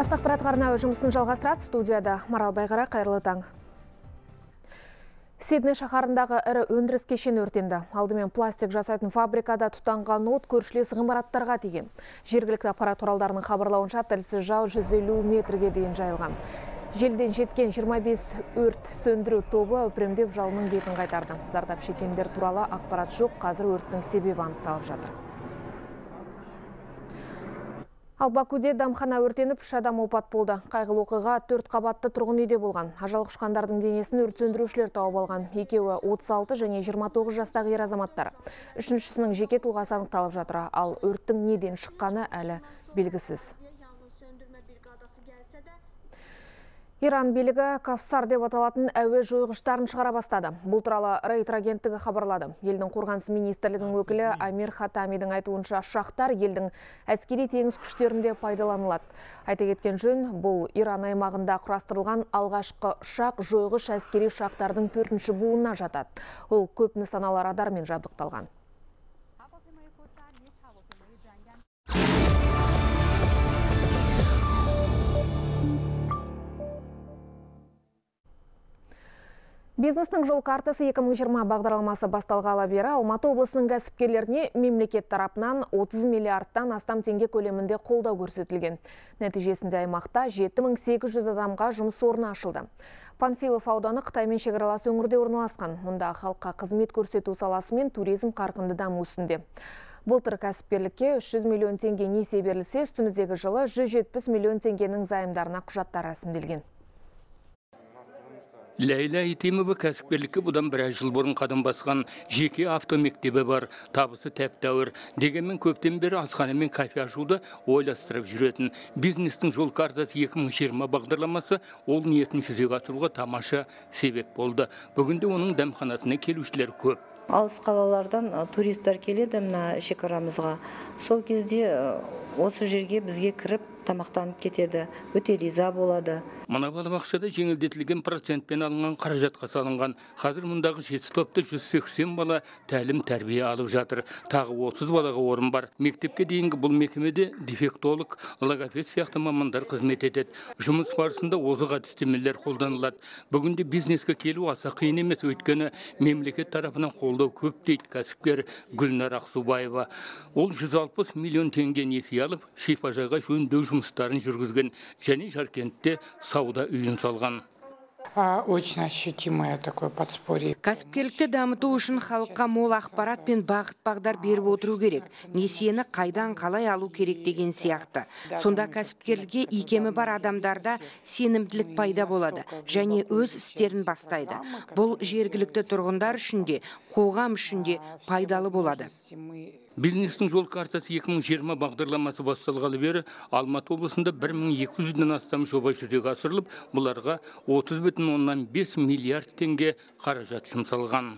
Бастық ақпарат арнауы жұмысын жалғастырады. Студияда Марал Байғара, қайырлы таң. Сидней шаһарындағы ірі өндіріс кешені өртенді. Алдымен пластик жасайтын фабрикада тұтанған от көршілес ғимараттарға тиген. Жергілікті ақпарат құралдарының хабарлауынша тілсіз жау 150 метрге дейін жайылған. Желден жеткен 25 өрт сөндіру тобы өпремдеп жалынның бетін қайтарды. Зардап шеккендер туралы ақпарат жоқ, қазір өрттің себебі анықталып жатыр. Ал Бакуде дамхана өртеніп, 3 адам опат болды. Қайғылы оқиға 4 қабатты тұрғын үйде болған. Ажал құшқандардың денесін өрт сөндірушілер тауып алған. Екеуі 36 және 29 жастағы ер азаматтар. Үшіншісінің жеке тұлғасы анықталып жатыр, ал өрттің неден шыққаны әлі белгісіз. Иран билігі Кавсар деп аталатын әуе жойғыштарын шығара бастады. Бұл туралы Рейтер агенттігі хабарлады. Елдің қорғаныс министрлігінің өкілі Амир Хатамидің айтуынша ұшақтар елдің әскери теңіз күштерінде пайдаланылады. Айта кеткен жөн, бұл Иран аймағында құрастырылған алғашқы ұшақ жойғыш әскери ұшақтардың 4-ші буынына жатады. Ол көп нысаналы радармен жабдықталған. Бизнестің жол картасы 2020 бағдарламасы басталғалы бері Алматы облысының кәсіпкерлеріне мемлекет тарапынан 30 миллиардтан астам теңге көлемінде қолдау көрсетілген. Нәтижесінде аймақта 7800 адамға жұмыс орны ашылды. Панфилов ауданы Қытаймен шекаралас өңірде орналасқан. Мұнда халыққа қызмет көрсету саласы мен туризм қарқынды даму үстінде. Былтыр кәсіпкерлікке 300 миллион теңге несие берілсе, үстіміздегі жылы 170 миллион теңгенің займдарына құжаттар рәсімделген. Ләйла Итемова кәсіпкерлікке бұдан біраз жыл бұрын қадам басқан. Жеке автомектебі бар, табысы тәп-тәуір. Дегенмен көптен бері асхана мен кафе ашуды ойластырып жүретін. Бизнестің жол картасы 2020 бағдарламасы ол ниетін жүзеге асыруға тамаша себеп болды. Бүгінде оның дәмханасына келушілер көп. Алыс қалалардан туристер келеді мына шекарамызға. Сол кезде осы жерге бізге кіріп тамақтанып кетеді, өте риза болады. Мына балабақшада жеңілдетілген процентпен алынған қаражатқа салынған. Қазір мұндағы 7 топта 180 бала тәлім тәрбие алып жатыр. Тағы 30 балаға орын бар. Мектепке дейінгі бұл мекемеде дефектолог, логопед сияқты мамандар қызмет етеді. Жұмыс барысында озық әдістемелер қолданылады. Бүгінде бизнеске келу аса қиын емес, өйткені мемлекет тарапынан қолдау көп дейді кәсіпкер Гүлнар Ақсубаева. Ол 160 миллион теңге несие алып, шипажайға жөндеу жұмыстарын жүргізген және Жаркентте сауда үйін салған. Очень ощутимое такое подспорье. Кәсіпкерлікті дамыту үшін халыққа мол ақпарат пен бағыт-бағдар беріп отыру керек. Несиені қайдан қалай алу керек деген сияқты. Сонда кәсіпкерлікке икемі бар адамдарда сенімділік пайда болады және өз істерін бастайды. Бұл жергілікті тұрғындар үшін де, қоғам үшін де пайдалы болады. Бизнестің жол картасы 2020 бағдарламасы басталғалы бері Алматы облысында 1200-ден астам жоба жүзеге асырылып, бұларға 30,5 миллиард теңге қаражат жұмсалған.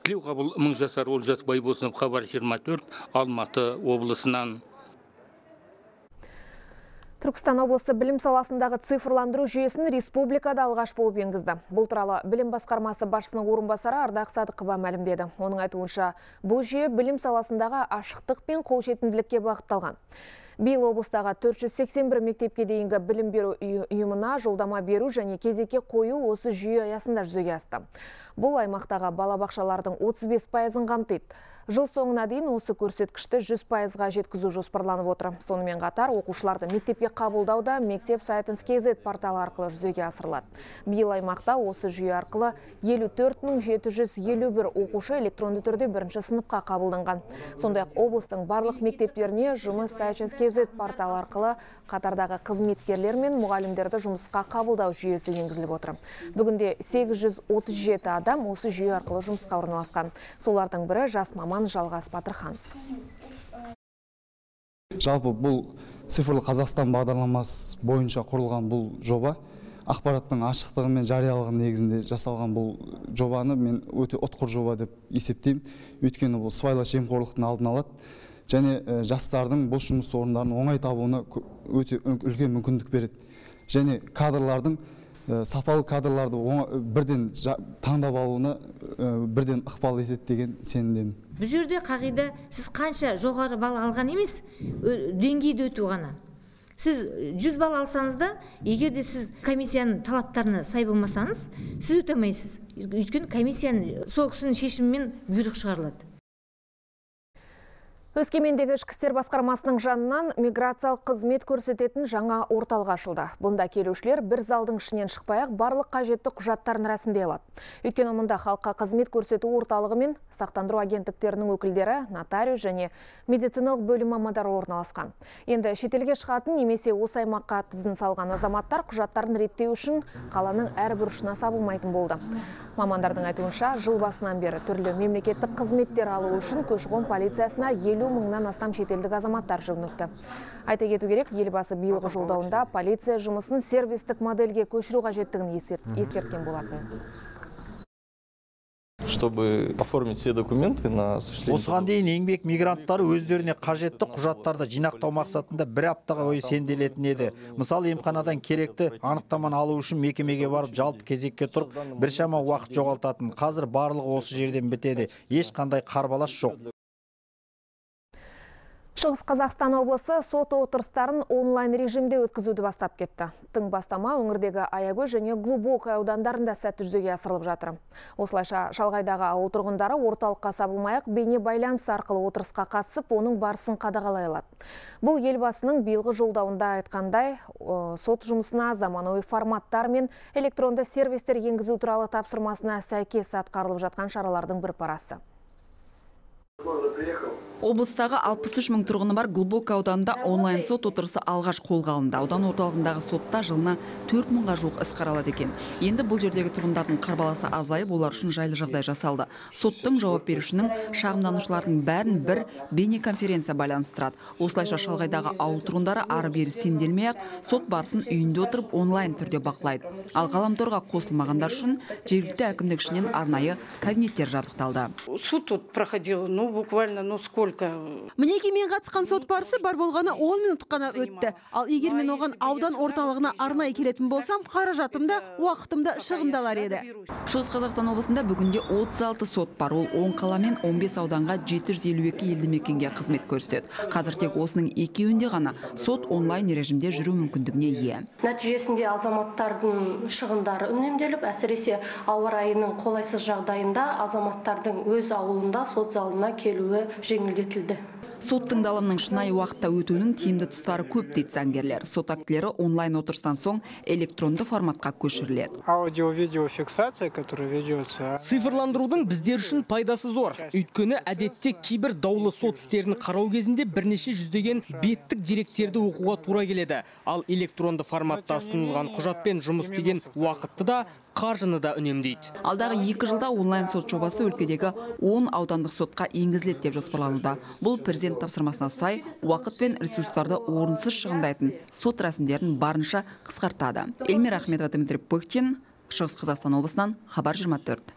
Тілеуқабыл Мыңжасар, Олжас Байбосынов, Хабар 24, Алматы облысынан. Түркістан облысы білім саласындағы цифрландыру жүйесін республикада алғаш болып енгізді. Бұл туралы білім басқармасы басшысының орынбасары Ардақ Садықова мәлімдеді. Оның айтуынша, бұл жүйе білім саласындағы ашықтық пен қолжетімділікке бағытталған. Биыл облыстағы 481 мектепке дейінгі білім беру ұйымына жолдама беру және кезекке қою осы жүйе аясында жүзеге асты. Бұл аймақтағы балабақшалардың 35%-ын қамтиды. Жыл соңына дейін осы көрсеткішті 100%-ға жеткізу жоспарланып отыр. Сонымен қатар оқушыларды мектепке қабылдауда мектеп сайтын KZ порталы арқылы жүзеге асырылады. Биыл аймақта осы жүйе арқылы 54.751 оқушы электронды түрде бірінші сыныпқа қабылданған. Сондай-ақ облыстың барлық мектептеріне жұмыс сайтын KZ порталы арқылы қатардағы қызметкерлер мен мұғалімдерді жұмысқа қабылдау жүйесі енгізіліп отыр. Бүгінде 837 адам осы жүйе арқылы жұмысқа орналасқан. Солардың бірі жас маман Жалғас Батырхан. Жалпы бұл цифрлы Қазақстан бағдарламасы бойынша құрылған бұл жоба ақпараттың ашықтығы мен жариялығы негізінде жасалған бұл жобаны мен өте ұтқыр жоба деп есептеймін. Өйткені бұл сыбайлас жемқорлықтың алдын алады және жастардың бос жұмыс орындарын оңай табуына өте үлкен мүмкіндік береді. Және кадрлардың сапалы кадрларды бірден таңдап алуына бірден ықпал етеді деген сенімдемін. Бұл жерде қағида сіз қанша жоғары балл алған емес, деңгейді өту ғана. Сіз 100 балл алсаңыз да, егер де сіз комиссияның талаптарына сай болмасаңыз, сіз өте алмайсыз. Өйткені комиссияның сол кісінің шешімімен бұйрық шығарылады. Өскемендегі ішкі істер басқармасының жанынан миграциялық қызмет көрсететін жаңа орталық ашылды. Бұнда келушілер бір залдың ішінен шықпай-ақ барлық қажетті құжаттарын рәсімдей алады. Өйткені мұнда халыққа қызмет көрсету орталығы мен сақтандыру агенттіктерінің өкілдері, нотариус және медициналық бөлім мамандары орналасқан. Енді шетелге шығатын немесе осы аймаққа тізім салған азаматтар құжаттарын реттеу үшін қаланың әр бұрышына сабылмайтын болды. Мамандардың айтуынша, жыл басынан бері түрлі мемлекеттік қызметтер алу үшін көші-қон полициясына 50 мыңнан астам шетелдік азаматтар жүгініпті. Айта кету керек, елбасы биылғы жолдауында полиция жұмысын сервистік модельге көшіру қажеттігін ескерткен болатын. Чтобы оформить все документы на осуществление. Осыған дейін еңбек мигранттары өздеріне қажетті құжаттарды жинақтау мақсатында бір аптаға бойы сенделетін еді. Мысалы, емханадан керекті анықтаманы алу үшін мекемеге барып жалпы кезекке тұрып, біршама уақыт жоғалтатын. Қазір барлығы осы жерден бітеді. Ешқандай қарбалас жоқ. Шығыс Қазақстан облысы сот отырыстарын онлайн режимде өткізуді бастап кетті. Тың бастама өңірдегі Аягөз және Глубокое аудандарында сәтті жүзеге асырылып жатыр. Осылайша шалғайдағы ауыл тұрғындары орталыққа сабылмай-ақ бейне байланыс арқылы отырысқа қатысып, оның барысын қадағалай алады. Бұл елбасының биылғы жолдауында айтқандай, сот жұмысына заманауи форматтар мен электронды сервистер енгізу туралы тапсырмасына сәйкес атқарылып жатқан шаралардың бір парасы. Облыстағы 63 мың тұрғыны бар Глубокое ауданында онлайн сот отырысы алғаш қолға алынды. Аудан орталығындағы сотта жылына 4 мыңға жуық іс қаралады екен. Енді бұл жердегі тұрғындардың қарбаласы азайып, олар үшін жайлы жағдай жасалды. Соттың жауап берушінің шағымданушылардың бәрін бір бейнеконференция байланыстырады. Осылайша шалғайдағы ауыл тұрғындары ары-бері сенделмей-ақ сот барысын үйінде отырып онлайн түрде бақылайды. Ал ғаламторға қосылмағандар үшін жергілікті әкімдік ішінен арнайы кабинеттер жабдықталды. Суд тут проходил, буквально, сколько? Мінеке мен қатысқан сот барысы бар болғаны 10 минут қана өтті. Ал егер мен оған аудан орталығына арнайы келетін болсам, қаражатымда, уақытымда шығындалар еді. Шығыс Қазақстан облысында бүгінде 36 сот бар. Ол 10 қала мен 15 ауданға 752 елді мекенге қызмет көрсетеді. Қазір тек осының екеуінде ғана сот онлайн режимде жүру мүмкіндігіне ие. Нәтижесінде азаматтардың шығындары үнемделіп, әсіресе ауа райының қолайсыз жағдайында азаматтардың өз ауылында сот залына келуі жеңілдетілді. Сот тыңдалымның шынайы уақытта өтуінің тиімді тұстары көп дейді заңгерлер. Сот актілері онлайн отырыстан соң электронды форматқа көшіріледі. Аудио-видео фиксация, которая ведется. Цифрландырудың біздер үшін пайдасы зор. Өйткені әдетте кейбір даулы сот істерін қарау кезінде бірнеше жүздеген беттік деректерді оқуға тура келеді. Ал электронды форматта ұсынылған құжатпен жұмыс істеген уақытты да қаржыны да үнемдейді. Алдағы 2 жылда онлайн сот жобасы өлкедегі 10 аудандық сотқа енгізіледі деп жоспарлануда. Бұл президент тапсырмасына сай уақыт пен ресурстарды орынсыз шығындайтын сот рәсімдерін барынша қысқартады. Эльмира Ахметова, Дмитрий Пыхтин, Шығыс Қазақстан облысынан, Хабар 24.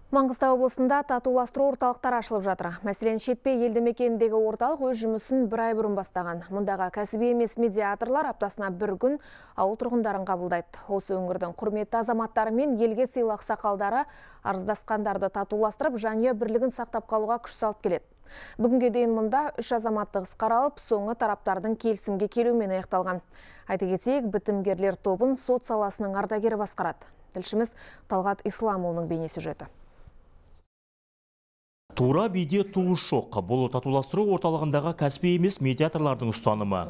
Маңғыстау облысында татуластыру орталықтар ашылып жатыр. Мәселен, Шетпе елді мекеніндегі орталық өз жұмысын бір ай бұрын бастаған. Мұндағы кәсіби емес медиаторлар аптасына бір күн ауыл тұрғындарын қабылдайды. Осы өңірдің құрметті азаматтары мен елге сыйлық сақалдары арыздасқандарды татуластырып, жанұя бірлігін сақтап қалуға күш салып келеді. Бүгінге дейін мұнда 3 азаматтық іс қаралып, соңы тараптардың келісімге келуімен аяқталған. Айта кетейік, бітімгерлер тобын сот саласының ардагері басқарады. Тілшіміз Талғат Исламұлының бейнесюжеті. Тура биде туыс жоқ. Бұл татуластыру орталығындағы кәсіби емес медиаторлардың ұстанымы.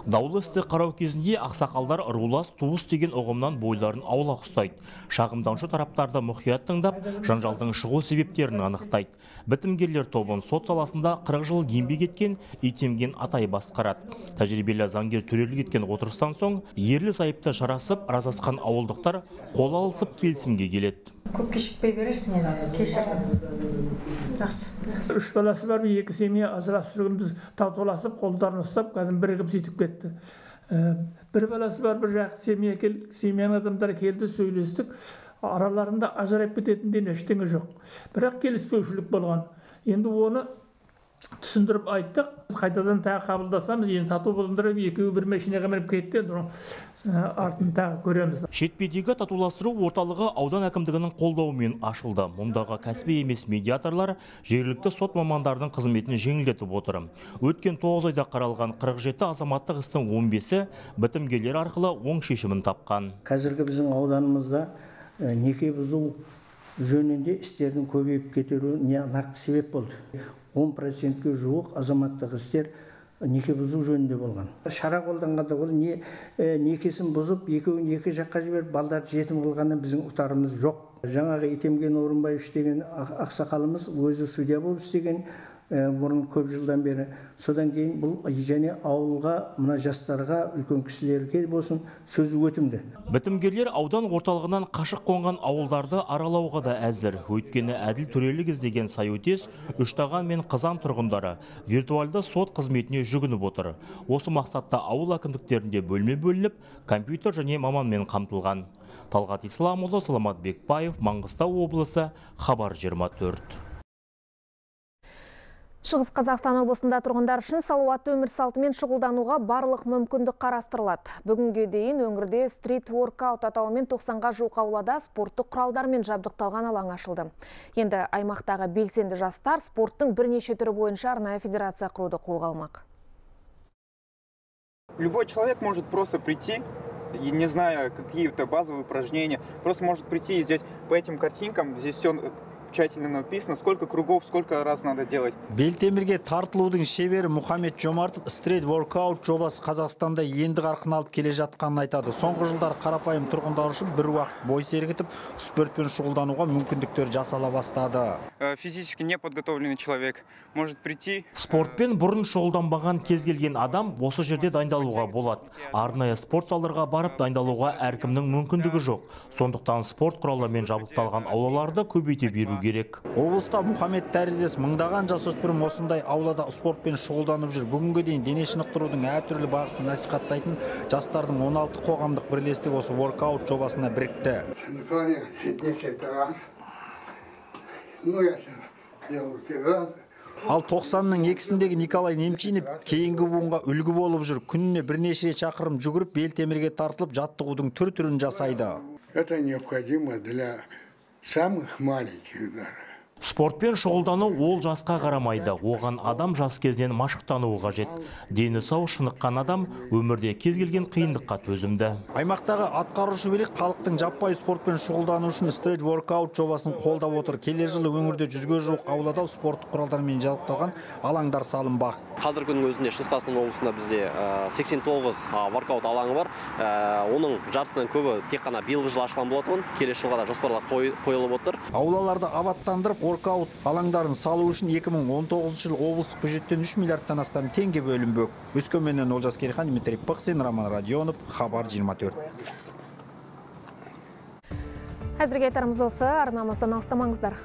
Даулы істі қарау кезінде ақсақалдар рулас туыс деген ұғымнан бойларын аулақ ұстайды. Шағымданшы тараптарды мұқият тыңдап, жанжалдың шығу себептерін анықтайды. Бітімгерлер тобын сот саласында 40 жыл еңбек еткен Итемген Атай басқарады. Тәжірибелі заңгер төрелік еткен отырыстан соң, ерлі зайыпты жарасып, разасқан ауылдықтар қол алысып келісімге келеді. Көп кешікпей бересің еді, кешірдім. Жақсы. 3 баласы бар, 2 семья ажырасып жүрген, біз татуласып, қолдарын ұстап, кәдімгі бірігіп сөйтіп кетті. Бір баласы бар, бір жақ семья келді, семьяның адамдары келді, сөйлестік. Араларында ажырап кететінден ештеңе жоқ. Бірақ келіспеушілік болған. Енді оны түсіндіріп айттық. Қайтадан тағы қабылдасамыз, енді тату болыңдар, екеуі бір машинаға мініп кетті, артын тағы көреміз. Шетпедегі татуластыру орталығы аудан әкімдігінің қолдауымен ашылды. Мұндағы кәсіби емес медиаторлар жергілікті сот мамандардың қызметін жеңілдетіп отыр. Өткен 9 айда қаралған 47 азаматтық істің 15-і бітімгерлер арқылы оң шешімін тапқан. Қазіргі біздің ауданымызда неке бұзу жөнінде істердің көбейіп кетуіне нақты себеп болды. 10%-ге жуық азаматтық істер неке бұзу жөнінде болған. Шара қолданғанда ол некесін бұзып, екеуін екі жаққа жіберіп, балдарды жетім қылғаннан біздің ұтарымыз жоқ. Жаңағы Итемген Орынбаев деген ақсақалымыз өзі судья болып істеген бұрын көп жылдан бері. Содан кейін бұл және ауылға, мына жастарға, үлкен кісілерге болсын сөзі өтімді. Бітімгерлер аудан орталығынан қашық қонған ауылдарды аралауға да әзір. Өйткені әділ төрелік іздеген Сайөтес, Үштаған мен Қызан тұрғындары виртуалды сот қызметіне жүгініп отыр. Осы мақсатта ауыл әкімдіктерінде бөлме бөлініп, компьютер және маманмен қамтылған. Талғат Исламұлы, Саламат Бекбаев, Маңғыстау облысы, Хабар 24. Шығыс Қазақстан облысында тұрғындар үшін салауатты өмір салтымен шұғылдануға барлық мүмкіндік қарастырылады. Бүгінге дейін өңірде стрит воркаут атауымен 90-ға жуық аулада спорттық құралдармен жабдықталған алаң ашылды. Енді аймақтағы белсенді жастар спорттың бірнеше түрі бойынша арнайы федерация құруды қолға алмақ. Любой человек может просто прийти, и не зная какие-то базовые упражнения, просто может прийти и взять по этим картинкам, здесь все тщательно написано, сколько кругов, сколько раз надо делать. Белтемірге тартылудың шебері Мұхаммед Жомартов стрит воркаут жобасы Қазақстанда енді қарқын алып келе жатқанын айтады. Соңғы жылдар қарапайым тұрғындар үшін бір уақыт бой сергітіп, спортпен шұғылдануға мүмкіндіктер жасала бастады. Физически неподготовленный человек может прийти. Спортпен бұрын шұғылданбаған кез келген адам осы жерде дайындалуға болады. Арнайы спорт залдарға барып дайындалуға әркімнің мүмкіндігі жоқ. Сондықтан спорт құралдарымен жабдықталған аулаларды көбейте беру керек. Облыста Мұхаммед тәріздес мыңдаған жасөспірім осындай аулада спортпен шұғылданып жүр. Бүгінге дейін дене шынықтырудың әртүрлі бағытын насихаттайтын жастардың 16 қоғамдық бірлестігі осы воркаут жобасына бірікті. Ал 90-ның екісіндегі Николай Немчинов кейінгі буынға үлгі болып жүр. Күніне бірнеше шақырым жүгіріп, белтемірге тартылып, жаттығудың түр-түрін жасайды. Это необходимо для самых маленьких даже. Спортпен шұғылдану ол жасқа қарамайды. Оған адам жас кезден машықтануы қажет. Дені сау шыныққан адам өмірде кез келген қиындыққа төзімді. Аймақтағы атқарушы билік халықтың жаппай спортпен шұғылдану үшін стрит воркаут жобасын қолдап отыр. Келер жылы өңірде 100-ге жуық аулада спорттық құралдармен жабдықталған алаңдар салынбақ. Қазіргі күннің өзінде Шығыс Қазақстан облысында бізде 89 воркаут алаңы бар. Оның жартысынан көбі тек қана биылғы жылы ашылған болатын. Келесі жылға да жоспарлар қойылып отыр. Аулаларды абаттандырып, воркаут алаңдарын салу үшін 2019 жыл облыстық бюджеттен 3 миллиардтан астам теңге бөлінбек. Өскеменнен Олжас Керейхан, Дмитрий Пыхтин, Роман Радионов, Хабар 24. Әзірге айтарымыз осы, арнамыздан алыстамаңыздар.